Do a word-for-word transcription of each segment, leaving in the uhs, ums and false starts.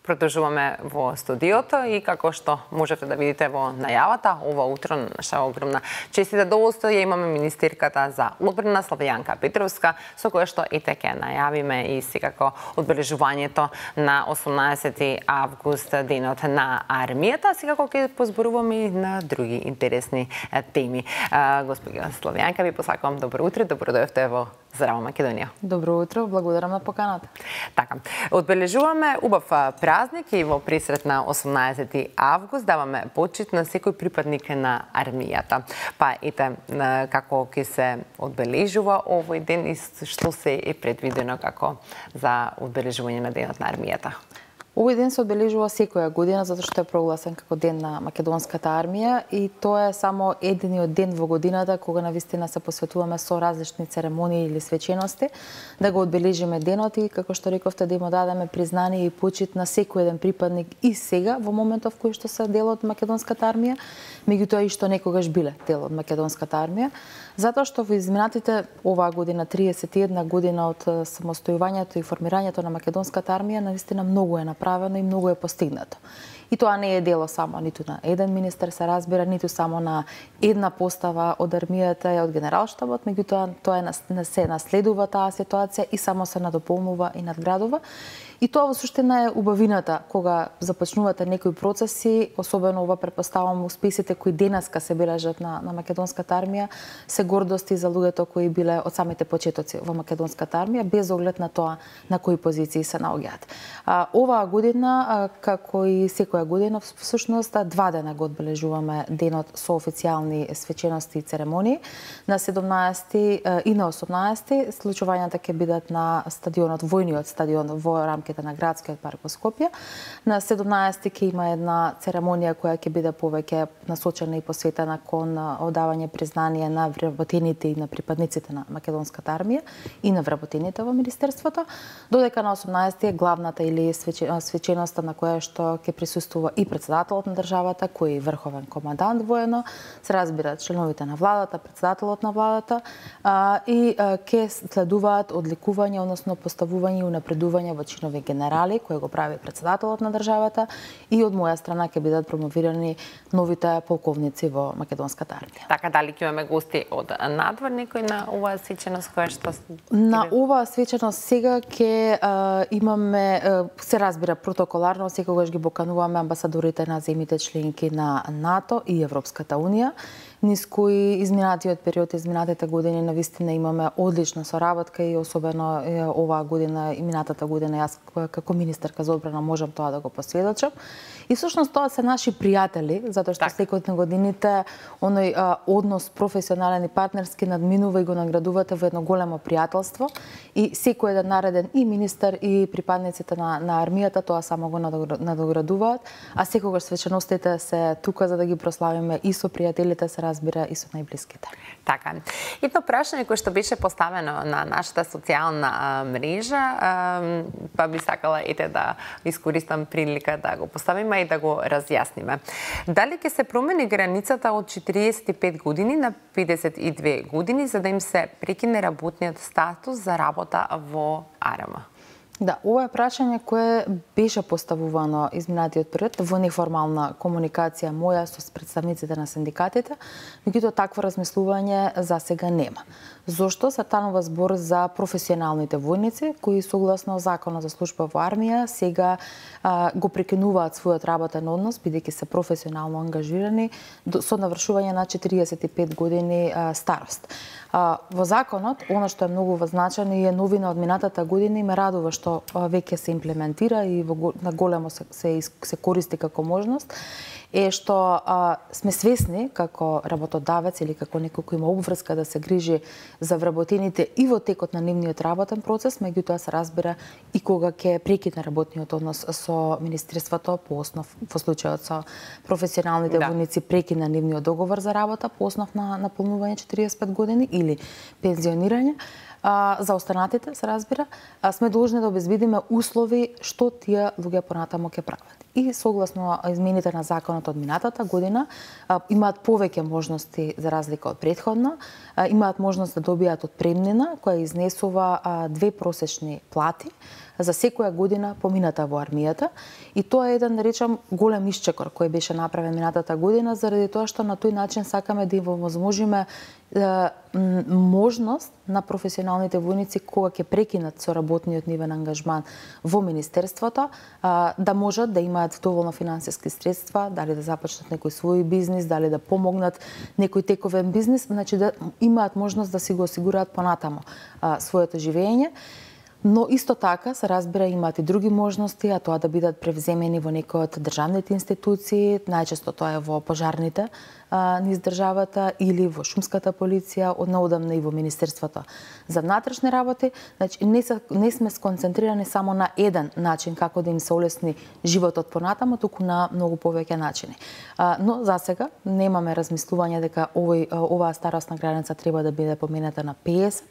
Продолжуваме во студиото и како што можете да видите во најавата, ова утро наша огромна чест и задоволство ја имаме министерката за одбрана Славјанка Петровска, со која што ете ќе најавиме и секако одбележувањето на осумнаесети август, денот на армијата. Секако ќе позборуваме и на други интересни теми. Господја Славјанка, ви посакувам добро утро, добро дојдовте во Здрава Македонија. Добро утро, благодарам на поканата. Така, одбележуваме убав празник и во пресрет на осумнаесети август даваме почит на секој припадник на армијата. Па ете како ќе се одбележува овој ден и што се е предвидено како за одбележување на денот на армијата. Овој ден се одбележува секоја година затоа што е прогласен како ден на македонската армија и тоа е само единиот ден во годината кога навистина се посветуваме со различни церемонии или свечености да го одбележиме денот и како што рековте да им дадеме признание и почит на секој еден припадник и сега во моментов кој што се дел од македонската армија, меѓутоа и што некогаш биле дел од македонската армија, затоа што во изминатите оваа година триесет и една година од самостојувањето и формирањето на македонската армија навистина многу е направено и многу е постигнато. И тоа не е дело само ниту на еден министер, се разбира, ниту само на една постава од армијата и од генералштабот, меѓутоа тоа е се наследува таа ситуација и само се надополнува и надградува. И тоа во суштина е убавината кога започнувате некои процеси, особено ова претпоставам успесите кои денеска се бележат на, на македонската армија, се гордости за луѓето кои биле од самите почетоци во македонската армија, без оглед на тоа на кои позиции се наоѓаат. А, оваа година, а, како и секоја година, всушност два дена го одбележуваме денот со официјални свечености и церемонии. На седумнаесети и на осумнаесети случувањата ќе бидат на стадионот, војниот стадион во рамките на градскиот парк во Скопје. На седумнаесети ќе има една церемонија која ќе биде повеќе насочена и посветена кон одавање признание на вработените и на припадниците на македонската армија и на вработените во министерството, додека на осумнаесети е главната или свеченоста на која што ќе присуствува и председателот на државата, кој е врховен командант воено, се разбира членовите на владата, председателот на владата а, и а, ќе следуваат одликување, односно поставување и унапредување во чинови генерали, кој го прави председателот на државата, и од моја страна ќе бидат промовирани новите полковници во македонската армија. Така, дали ќе имаме гости од надвор некој на оваа свеченост која што на оваа свеченост сега ќе а, имаме а, се разбира протоколарно секогаш ги покануваме амбасадорите на земјите членки на НАТО и Европската унија, низ кои изминатиот период, изминатите години навистина имаме одлична соработка и особено оваа година и минатата година јас како министерка за одбрана можам тоа да го посведочам. И всушност тоа се наши пријатели, затоа што секој на годините оној а, однос професионален и партнерски надминува и го наградувате во едно големо пријателство и секој еден нареден и министер и припадниците на, на армијата тоа само го надоградуваат, а секогаш свеченостите се тука за да ги прославиме и со пријателите, се разбира и со најблиските. Така. Едно прашање кое што беше поставено на нашата социјална а, мрежа, а, па би сакала ете да искористам прилика да го поставиме и да го разјасниме. Дали ќе се промени границата од четириесет и пет години на педесет и две години за да им се прекине работниот статус за работа во АРМ? Да, ова е прашање кое беше поставувано изминатиот период во неформална комуникација моја со представниците на синдикатите, меѓутоа такво размислување за сега нема. Зошто се станува збор за професионалните војници кои согласно Законот за служба во армија сега а, го прекинуваат својот работен однос бидејќи се професионално ангажирани со навршување на четириесет и пет години а, старост. А, во законот, она што е многу значено и е новина од минатата година и ме радува што а, веќе се имплементира и во, на големо се, се, се користи како можност, е што а, сме свесни како работодавец или како некој кој има обврска да се грижи за вработените и во текот на нивниот работен процес, меѓутоа се разбира и кога ќе прекине работниот однос со министерството по основ во случајот со професионалните да. војници прекина нивниот договор за работа по основ на наполнување четириесет и пет години или пензионирање. А, за останатите, се разбира, а, сме должни да обезбедиме услови што тие луѓе понатаму ќе прават. И согласно измените на законот од минатата година а, имаат повеќе можности за разлика од претходно, а, имаат можност да добијат отпремнина која изнесува а, две просечни плати за секоја година помината во армијата и тоа е еден, да речам, голем исчекор кој беше направен минатата година заради тоа што на тој начин сакаме да им овозможиме можност на професионалните војници кога ќе прекинат со работниот нивен ангажман во Министерството да можат да имаат доволно финансиски средства, дали да започнат некој свој бизнис, дали да помогнат некој тековен бизнис, значи да имаат можност да си го осигураат понатамо своето живење. Но исто така се разбира имаат и други можности, а тоа да бидат превземени во некој од државните институции, најчесто тоа е во пожарните а, низ државата или во шумската полиција, однеодамна и во Министерството за внатрешни работи. Значи не, са, не сме сконцентрирани само на еден начин како да им се олесни животот понатамо, туку на многу повеќе начини. А, но за сега немаме размислување дека овој оваа старосна граница треба да биде помената на пеесет,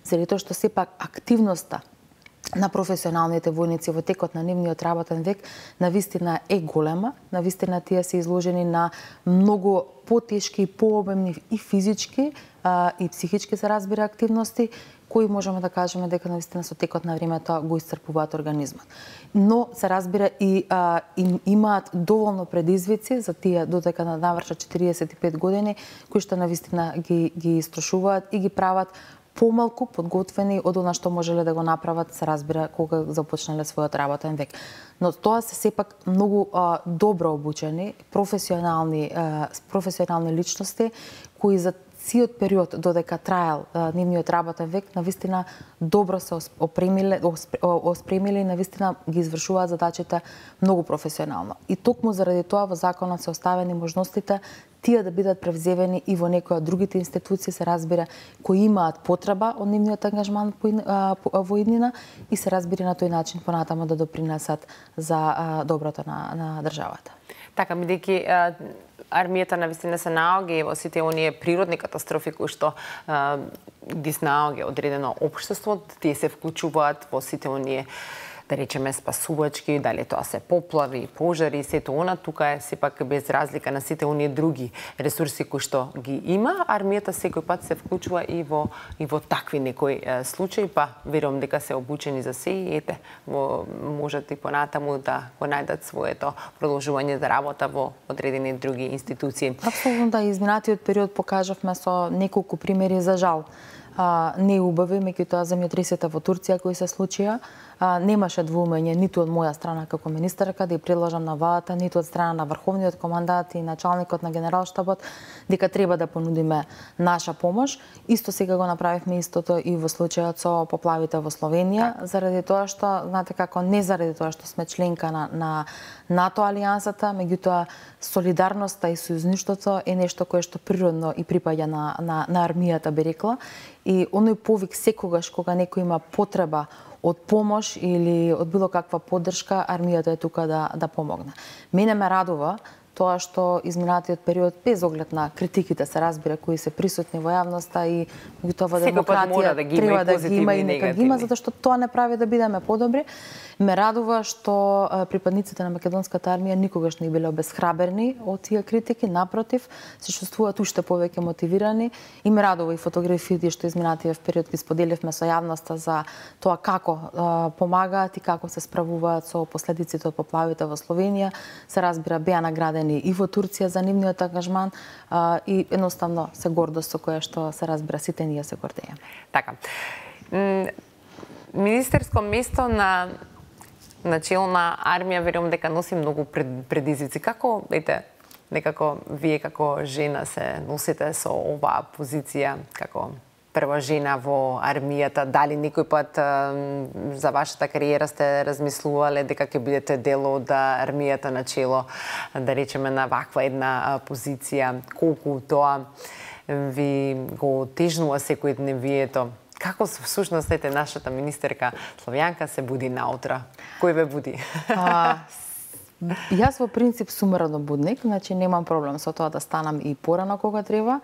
заради тоа што сепак активноста на професионалните војници во текот на нивниот работен век навистина е голема, навистина тие се изложени на многу потешки и пообемни и физички а, и психички се разбира активности кои можеме да кажеме дека навистина со текот на времето го исцрпуваат организмот. Но се разбира и а, им имаат доволно предизвици за тие додека да навршат четириесет и пет години кои што навистина ги ги истрошуваат и ги прават помалку подготвени од она што можеле да го направат, се разбира, кога започнале својот работен век. Но тоа се сепак многу а, добро обучени, професионални, а, професионални личности кои за сиот период додека траел а, нивниот работен век, навистина добро се опремиле, оспремиле и навистина ги извршуваат задачите многу професионално. И токму заради тоа во законот се оставени можностите тие да бидат превземени и во некои од другите институции, се разбира, кои имаат потреба од нивниот ангажман во иднина и се разбира на тој начин понатамо да допринесат за доброто на, на државата. Така, бидејќи армијата навистина се наоѓа во сите оние природни катастрофи кои што а, ги снаоѓа одредено општество, тие се вклучуваат во сите оние, да речеме, спасувачки, дали тоа се поплави, пожари, сето она, тука е сепак без разлика на сите оние други ресурси кои што ги има, армијата секој пат се вклучува и во и во такви некои е, случаи, па верувам дека се обучени за се и ете, во, можат и понатаму да го најдат своето продолжување за работа во одредени други институции. Апсолутно да, изминатиот период покажавме со неколку примери за жал. А, не убави, меѓутоа земјотресите во Турција кои се случија, а, немаше двоумење ниту од моја страна како министерка да ја предложам на владата, ниту од страна на врховниот командант и началникот на генералштабот дека треба да понудиме наша помош. Исто сега го направивме истото и во случајот со поплавите во Словенија, заради тоа што, знаете како, не заради тоа што сме членка на, на НАТО алијансата, меѓутоа солидарноста и сојузништвото е нешто кое што природно и припаѓа на, на, на армијата, би рекла. И оној повик секогаш кога некој има потреба од помош или од било каква поддршка, армијата е тука да, да помогне. Мене ме радува тоа што изминатиот период, без оглед на критиките, се разбира, кои се присутни во јавноста и тоа во демократија да треба да ги има и нека ги има, негативни. затоа што тоа не прави да бидеме подобри. Ме радува што припадниците на македонската армија никогаш не биле обесхраберни од тие критики, напротив, се чувствуваат уште повеќе мотивирани и ме радува и фотографиите што изминатиот период ги споделивме со јавноста за тоа како а, помагаат и како се справуваат со последиците од поплавите во Словенија. Се разбира, беа наградени и во Турција за нивниот ангажман а, и едноставно се гордост со која што се разбира сите ние се гордееме. Така. Министерско место на начелна армија, верувам дека носи многу пред, предизвици. Како, ете, некако вие како жена се носите со оваа позиција, како прва жена во армијата? Дали некој пат за вашата кариера сте размислувале дека ќе бидете дел од армијата начело, да речеме, на ваква една позиција? Колку тоа ви го тежнува секојдневието? Како всушност ете нашата министерка Славјанка се буди наутра? Кој ве буди? А, јас во принцип сум ранобудник, значи немам проблем со тоа да станам и порано кога треба.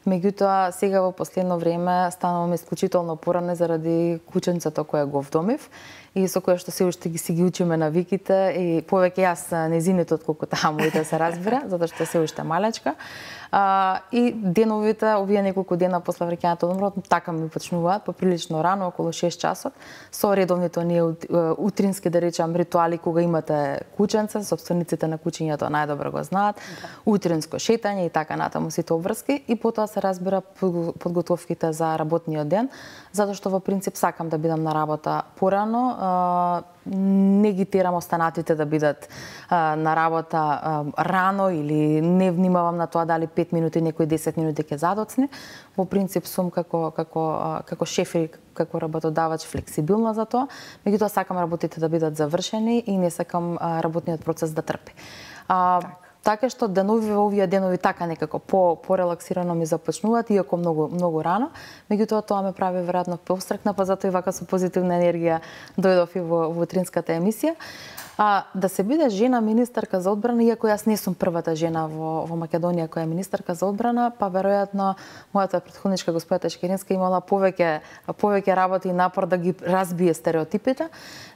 Меѓутоа сега во последно време станувам исклучително порано заради кученцето кое го вдомив и со која што се уште ги си ги учиме навиките и повеќе јас нејзините отколку таа моите се разбира, затоа што се уште малечка. А, и деновите, овие неколку дена после враќањето од одморот, така ми почнуваат, поприлично рано, околу шест часот, со редовните оние утрински, да речам, ритуали кога имате кученце, собствениците на кучињето најдобро го знаат, да. Утринско шетање и така натаму сите обврски, и потоа се разбира подготовките за работниот ден, затоа што во принцип сакам да бидам на работа порано, а, не ги терам останатите да бидат а, на работа а, рано или не внимавам на тоа дали пет минути, некои десет минути ќе задоцне. Во принцип сум како како како шеф и како работодавач флексибилна за тоа, меѓутоа сакам работите да бидат завршени и не сакам а, работниот процес да трпи. А, така што денови во овие денови така некако по порелаксирано ми започнуваат, иако многу многу рано, меѓутоа тоа ме прави веројатно повстракна, па затоа и вака со позитивна енергија дојдов и во, во утринската емисија. А, да се биде жена министарка за одбрана, иако јас не сум првата жена во, во Македонија која е министарка за одбрана, па веројатно мојата претходничка госпоѓа Тешкеринска имала повеќе повеќе работа и напор да ги разбие стереотипите.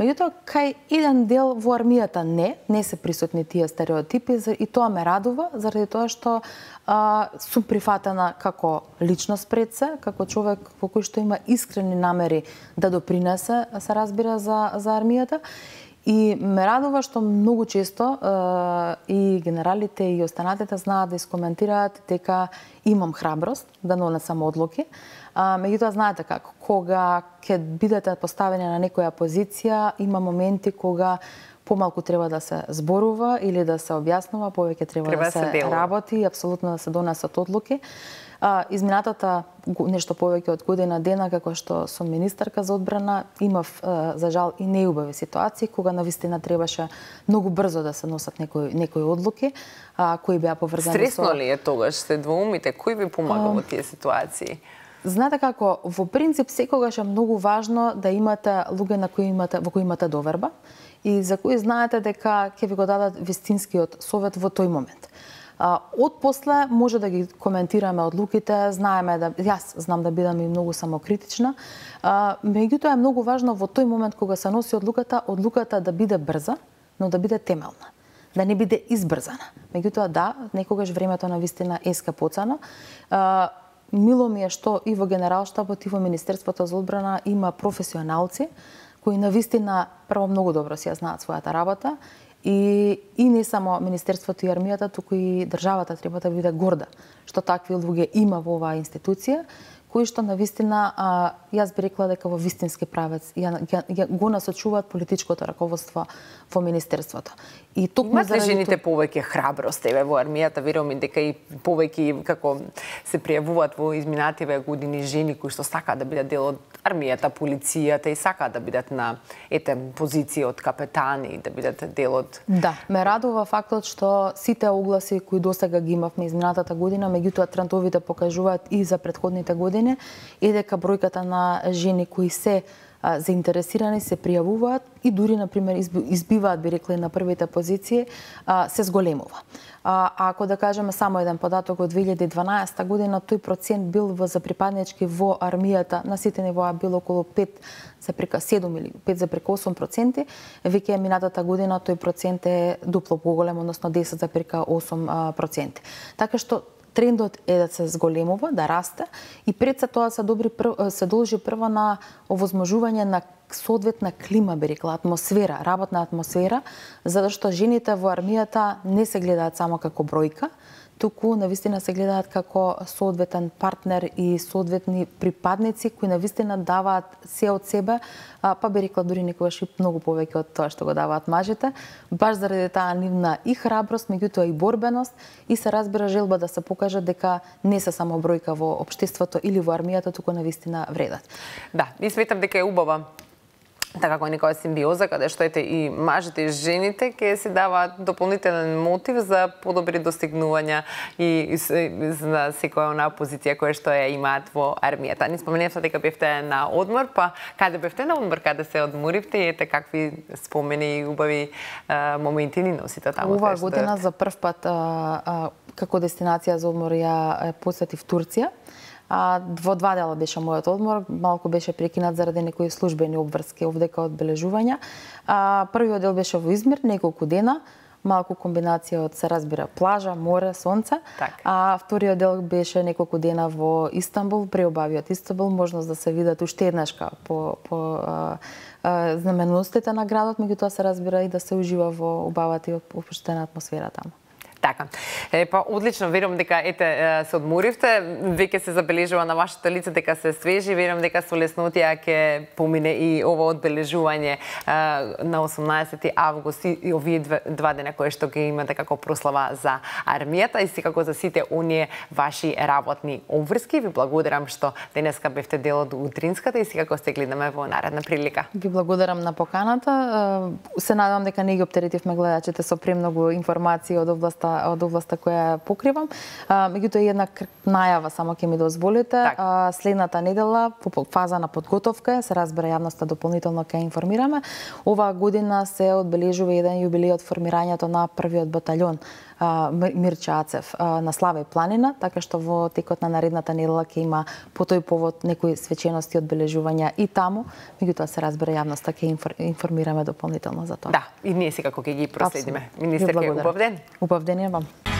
Меѓутоа, кај еден дел во армијата не, не се присутни тие стереотипи и тоа ме радува, заради тоа што а, сум прифатена како личност пред се, како човек во кој што има искрени намери да допринесе, се разбира, за, за армијата. И ме радува што многу често е, и генералите и останатите знаат да искоментираат дека имам храброст да донесам одлуки. А, меѓутоа знаете како, кога ќе бидете поставени на некоја позиција, има моменти кога помалку треба да се зборува или да се објаснува, повеќе треба, треба да се, се работи и апсолутно да се донесат одлуки. А, изминатата нешто повеќе од година дена, како што сум министарка за одбрана, имав, за жал, и неубави ситуации, кога навистина требаше многу брзо да се носат некои, некои одлуки, а, кои беа поврзани со... Стресно ли е тогаш, се двоумите? Кој ви помага во тие ситуации? Знаете како, во принцип, секогаш е многу важно да имате луѓе на кои имате, во кои имате доверба и за кои знаете дека ќе ви го дадат вистинскиот совет во тој момент. Од после може да ги коментираме одлуките, знаеме да јас знам да бидам и многу самокритична, меѓутоа е многу важно во тој момент кога се носи одлуката, одлуката да биде брза, но да биде темелна, да не биде избрзана. Меѓутоа да, некогаш времето на вистина еска поцано. Мило ми е што и во Генералштабот и во Министерството за одбрана има професионалци кои на вистина прво многу добро си ја знаат својата работа. И, и не само Министерството и армијата, туку и државата треба да биде горда што такви луѓе има во оваа институција, кои што навистина, а, јас би рекла дека во вистински правец ја, ја, ја, го насочуваат политичкото раководство во Министерството. И токму имат ли жените повеќе храброст еве во армијата? Верувам и дека и повеќе како се пријавуваат во изминативе години жени кои што сакаат да бидат дел од армијата, полицијата и сакаат да бидат на ете позиција од капетани, да бидат дел од... Да, ме радува фактот што сите огласи кои досега ги имавме изминатата година, меѓутоа трендовите покажуваат и за претходните години, и дека бројката на жени кои се а, заинтересирани се пријавуваат и дури, например, избиваат, би рекла, на првите позиции, а, се зголемува. А, ако да кажеме само еден податок од две илјади и дванаесета година, тој процент бил во за припаднички во армијата на сите нивоа бил околу пет запрека седум или пет запрека осум проценти, веќе минатата година тој процент е дупло поголем, односно десет запрека осум проценти. Така што трендот е да се зголемува, да расте и пред се тоа се добри се должи прво на овозможување на соодветна клима, би рекла, атмосфера, работна атмосфера, затоа што жените во армијата не се гледаат само како бројка, туку навистина се гледаат како соодветен партнер и соодветни припадници кои навистина даваат се од себе, па би рекла дури некогаш и многу повеќе од тоа што го даваат мажите, баш заради таа нивна и храброст, меѓутоа и борбеност, и се разбира желба да се покаже дека не се само бројка во општеството или во армијата, туку навистина вредат. Да, и сметам дека е убава така како некоја симбиоза, каде што ете и мажите и жените ќе се даваат дополнителен мотив за подобри достигнувања и за секоја онаа позиција која што ја имаат во армијата. Ни споменавте дека бевте на одмор, па каде бевте на одмор, каде се одморивте и ете какви спомени и убави а, моменти ни носите таму? Оваа година за прв пат а, а, како дестинација за одмор ја посетив Турција. А, во два дела беше мојот одмор, малку беше прекинат заради некои службени обврски овдека одбележувања. А, првиот дел беше во Измир, неколку дена, малку комбинација од, се разбира, плажа, море, сонце. Так. А вториот дел беше неколку дена во Истанбул, преобавиот Истанбул, можност да се видат уште еднашка по, по а, а, знаменостите на градот, меѓутоа се разбира и да се ужива во убавата и опуштена атмосфера таму. Така. Е, па одлично, верувам дека ете се одморивте, веќе се забележува на вашето лице дека се свежи, верувам дека со леснотија ќе помине и ова одбележување на осумнаесети август и овие два дена кои што ќе имате како прослава за армијата и секако за сите оние ваши работни обврски. Ви благодарам што денеска бевте дел од утринската и секако се гледаме во наредна прилика. Ви благодарам на поканата. Се надевам дека не ги оптеретивме гледачите со премногу информации од областа од областа која покривам. А, меѓутоа една најава само ќе ми дозволите. А, следната недела по фаза на подготовка, се разбира јавноста дополнително ќе информираме. Оваа година се одбележува еден јубилеј од формирањето на првиот баталјон Мирче Ацев на Славе планина, така што во текот на наредната недела ќе има по тој повод некои свечености одбележувања и таму, меѓутоа се разбира јавноста ќе информираме дополнително за тоа. Да, и ние секако ќе ги проследиме. Министерке, убав ден. Убав ден вам.